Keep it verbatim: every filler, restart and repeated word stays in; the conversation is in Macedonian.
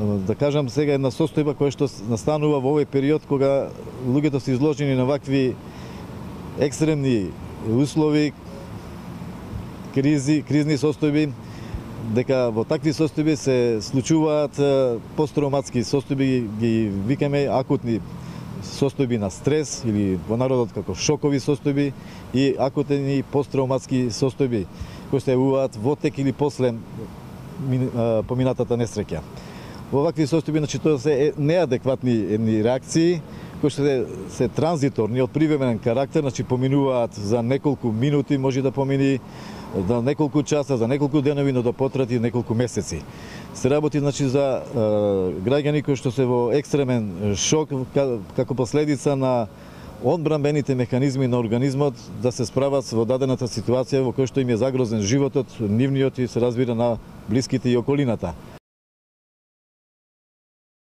да кажам сега една состојба која што настанува во овој период кога луѓето се изложени на вакви екстремни услови, кризи, кризни состојби, дека во такви состојби се случуваат посттравматски состојби, ги викаме акутни состојби на стрес или во народот како шокови состојби и акутни посттравматски состојби кои се јавуваат во тек или после поминатата несреќа. Во вакви состојби, значи, тоа се неадекватни едни реакции кои што се, се транзиторни од привременен карактер, значи поминуваат за неколку минути, може да помини за неколку часа, за неколку денови, но да потрати неколку месеци. Се работи, значи, за е, граѓани кои што се во екстремен шок како последица на одбранбените механизми на организмот да се справат во дадената ситуација во која што им е загрозен животот, нивниот и се разбира на блиските и околината.